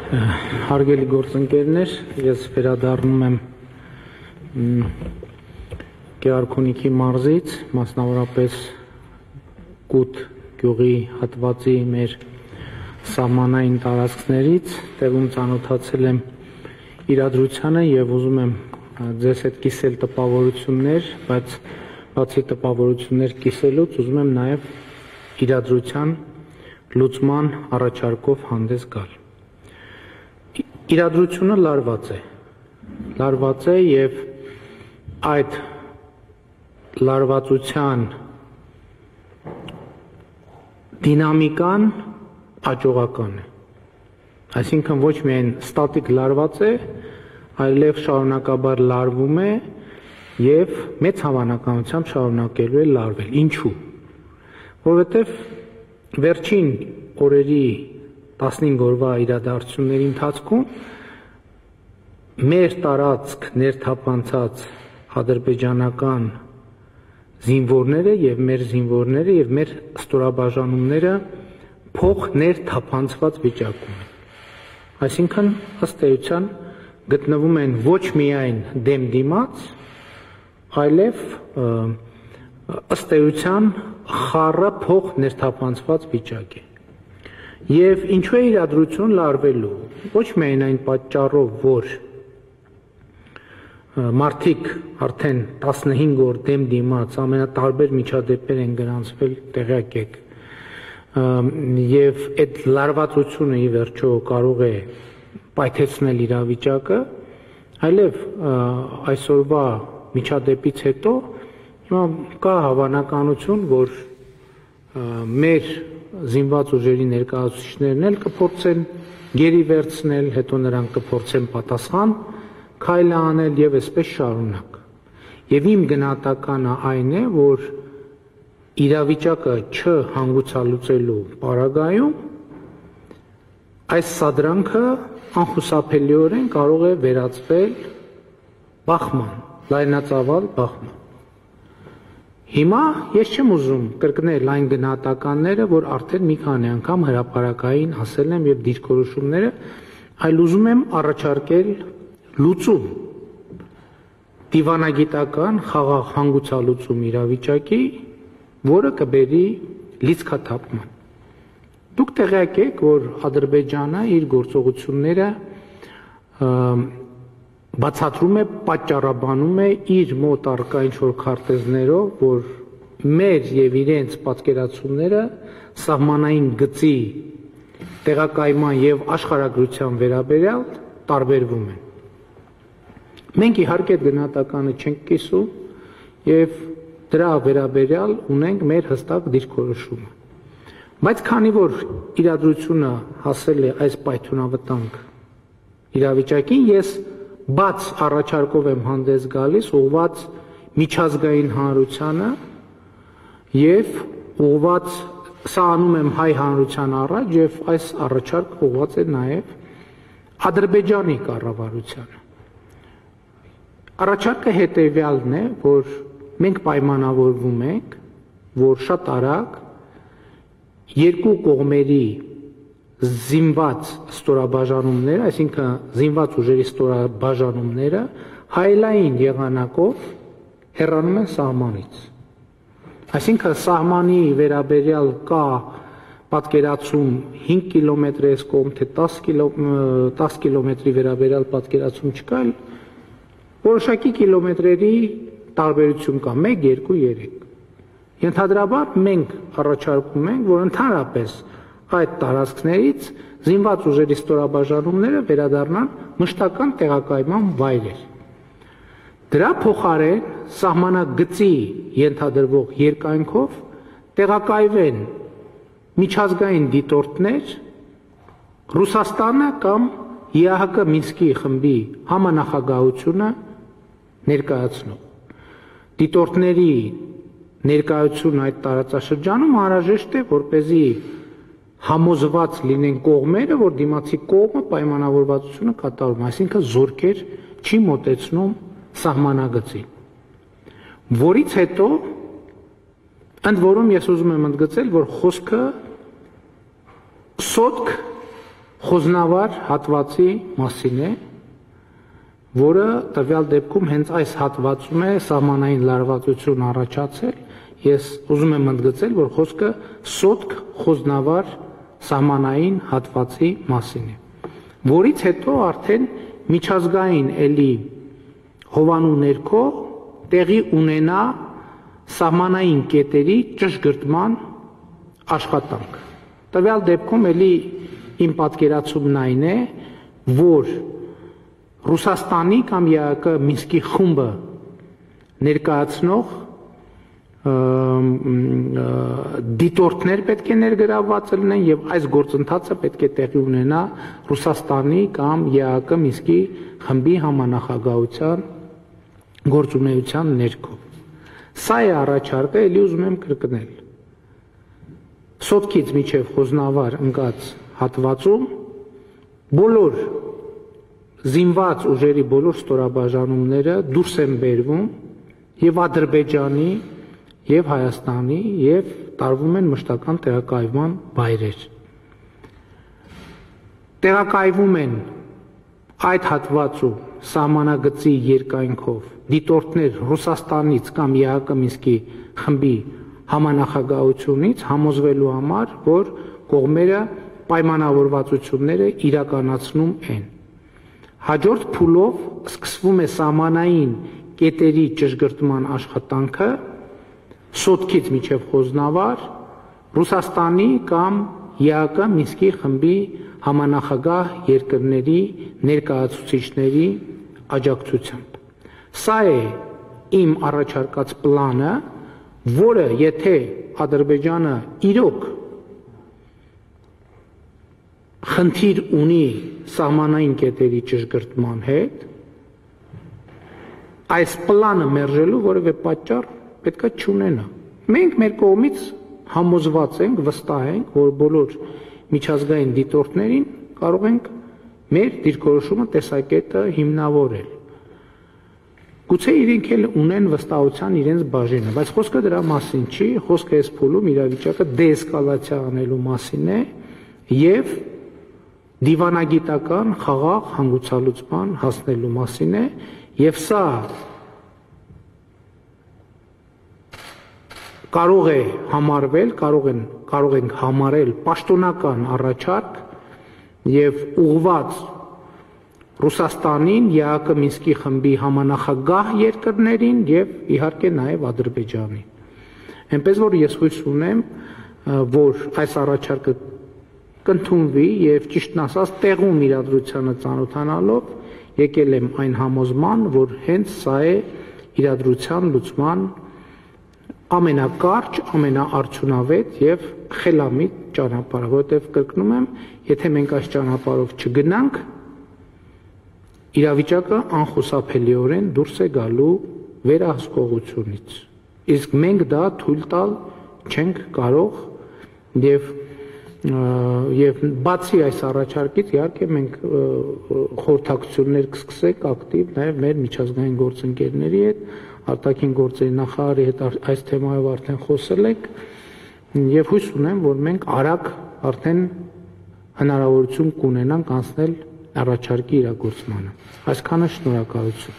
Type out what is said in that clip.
Հարգելի գործընկերներ, ես վերադառնում եմ Գեղարքունիքի մարզից, մասնավորապես Կուտ գյուղի հատվածի մեր սահմանային տարածքներից, տեղում ծանոթացել եմ իրադրությանը եւ ուզում եմ ձեզ հետ կիսել տպավորություններ, բայց բացի տպավորություններ կիսելուց ուզում եմ նաեւ իրադրության լուծման առաջարկով հանդես գալ։ Իրադրությունը լարված է եւ այդ լարվածության դինամիկան աճողական է։ Այսինքն ոչ միայն ստատիկ լարված է, այլև շարունակաբար լարվում է եւ մեծ հավանականությամբ շարունակելու է լարվել։ Ինչու՞։ Որովհետեւ վերջին օրերի 15 օրվա իրադարձությունների ընթացքում մեր տարածք ներթափանցած ադրբեջանական զինվորները եւ մեր զինվորները եւ մեր ստորաբաժանումները փող ներթափանցված վիճակում են։ Այսինքն ըստ էության գտնվում են ոչ միայն դեմ դիմաց, այլև ըստ էության խառը փող ներթափանցված վիճակ է։ Եվ ինչու է իրադրություն լարվելու։ Ոչ միայն այն պատճառով, որ մարդիկ արդեն 15 օր դեմ դիմաց ամենատարբեր միջադեպեր են գրանցվել, տեղյակ եք, եւ այդ լարվածությունը ի վերջո կարող է պայթեցնել իրավիճակը, այլև այսօրվա միջադեպից հետո կա հավանականություն, որ մեր զինված ուժերի ներկայացուցիչներն էլ կփորձեն գերի վերցնել, հետո նրանք կփորձեն պատասխան քայլ անել եւ այսպես շարունակ։ Եվ իմ գնահատականը այն է, որ իրավիճակը չհանգուցալուծելու պարագայում այս սադրանքը անխուսափելիորեն կարող է վերածվել բախման, լայնածավալ բախման։ Հիմա ես չեմ ուզում կրկնել այն գնահատականները, որ արդեն մի քանի անգամ հրապարակային ասել եմ եւ դիրքորոշումները, այլ ուզում եմ առաջարկել լուծում, դիվանագիտական խաղաղ հանգուցալուծում իրավիճակի, որը կբերի լիցքաթափման։ Դուք տեղյակ եք, որ Ադրբեջանը իր գործողությունները բացատրում է, պատճառաբանում է իր մոտ առկա ինչ-որ քարտեզներով, որ մեր եւ իրենց պատկերացումները սահմանային գծի տեղակայման եւ աշխարհագրության վերաբերյալ տարբերվում են։ Մենք իհարկե այդ գնահատականը չենք կիսում եւ դրա վերաբերյալ ունենք մեր հստակ դիրքորոշումը։ Բայց քանի որ իրադրությունը հասել է այս պայթյունավտանգ իրավիճակին, ես բաց առաջարկով եմ հանդես գալիս ուղղված միջազգային հանրությանը եւ ուղղված սա անում եմ հայ հանրության առաջ եւ այս առաջարկը ուղղված է նաեւ Ադրբեջանի կառավարությանը։ Առաջարկը հետեւյալն է, որ մենք պայմանավորվում ենք, որ շատ արագ երկու կողմերի զինված ստորաբաժանումները, այսինքն զինված ուժերի ստորաբաժանումները հայելային եղանակով հեռանում են սահմանից։ Այսինքն սահմանի վերաբերյալ կա պատկերացում 5 կիլոմետր էս կողմ, թե 10 կիլոմետրի վերաբերյալ պատկերացում չկա, այլ որոշակի կիլոմետրերի տարբերություն կա, 1, 2, 3։ Ենթադրաբար մենք առաջարկում ենք, որ ընդհանրապես այդ տարածքներից զինված ուժերի ստորաբաժանումները վերադառնան մշտական տեղակայման վայրեր։ Դրա փոխարեն սահմանագծի ենթադրվող երկայնքով տեղակայվեն միջազգային դիտորդներ Ռուսաստանը կամ ԵԱՀԿ Մինսկի խմբի համանախագահությունը ներկայացնող։ Դիտորդների ներկայությունը այդ տարածաշրջանում անհրաժեշտ է, որպեսզի համոզված լինեն կողմերը, որ դիմացի կողմը պայմանավորվածությունը կատարում, այսինքն զորքեր չի մոտեցնում սահմանագծին։ Որից հետո ընդ որում ես ուզում եմ ընդգծել, որ խոսքը սոտք խոզնավար հատվածի մասին է, որը տվյալ դեպքում հենց այս հատվածում է սահմանային լարվածություն առաջացել, ես ուզում եմ ընդգծել, որ խոսքը սոտք խոզնավար սահմանային հատվածի մասին է, որից հետո արդեն միջազգային էլի հովանու ներքո տեղի ունենա սահմանային կետերի ճշգրտման աշխատանք։ Տվյալ դեպքում էլի իմ պատկերացումն այն է, որ Ռուսաստանի կամ ԵԱԿ Մինսկի խումբը ներկայացնող դիտորդներ պետք է ներգրավված լինեն եւ այս գործընթացը պետք է տեղի ունենա Ռուսաստանի կամ ԵԱԿ Մինսկի խմբի համանախագահության գործունեության ներքո։ Սա է առաջարկը, ելի ուզում եմ կրկնել։ Սոտքից միջև խոզնավար ընկած հատվածում բոլոր զինված ուժերի բոլոր ստորաբաժանումները դուրս են բերվում եւ Ադրբեջանի եւ Հայաստանի եւ տարվում են մշտական տեղակայվման վայրեր։ Տեղակայվում են այդ հատվածում սահմանագծի երկայնքով դիտորդներ Ռուսաստանից կամ ԵԱԿ Մինսկի խմբի համանախագահությունից համոզվելու համար, որ կողմերը պայմանավորվածությունները իրականացնում են։ Հաջորդ փուլով սկսվում է սահմանային կետերի ճշգրտման աշխատանքը սոտքից միջև խոզնավար Ռուսաստանի կամ ԵԱԿ Մինսկի խմբի համանախագահ երկրների ներկայացուցիչների աջակցությամբ։ Սա է իմ առաջարկած պլանը, որը եթե Ադրբեջանը իրոք խնդիր ունի սահմանային կետերի ճշգրտման հետ, այս պլանը մերժելու որևէ պատճառ պետքա չունենա։ Մենք մեր կողմից համոզված ենք, վստահ ենք, որ բոլոր միջազգային դիտորդներին կարող ենք մեր դիրքորոշումը տեսակետը հիմնավորել։ Գուցե իրենք էլ ունեն վստահության իրենց բաժինը, բայց խոսքը դրա մասին չի, խոսքը այս փուլում իրավիճակը դեէսկալացիա անելու մասին է եւ դիվանագիտական խաղաղ հանգուցալուծման հասնելու մասին է եւ սա կարող է համարվել, կարող ենք համարել պաշտոնական առաջարկ եւ ուղղված Ռուսաստանին, ԵԱԿ Մինսկի խմբի համանախագահ երկրներին եւ իհարկե նաեւ Ադրբեջանին։ Այնպես որ ես հույս ունեմ, որ այս առաջարկը կընդունվի եւ ճիշտն ասած տեղում իրադրությանը ծանոթանալով եկել եմ այն համոզման, որ հենց սա է իրադրության լուծման ամենակարճ, ամենաարդյունավետ եւ խելամիտ ճանապարհը, որովհետեւ կրկնում եմ, եթե մենք այս ճանապարհով չգնանք, իրավիճակը անխուսափելիորեն դուրս է գալու վերահսկողությունից։ Իսկ մենք դա թույլ տալ չենք կարող եւ բացի այս առաջարկից իհարկե մենք խորհրդակցություններ կսկսենք ակտիվ նաեւ մեր միջազգային գործընկերների հետ, արտաքին գործերի նախարարի հետ այս թեմայով արդեն խոսել ենք եւ հույս ունեմ, որ մենք արագ արդեն հնարավորություն կունենանք անցնել առաջարկի իրագործմանը։ Այսքանը շնորհակալություն։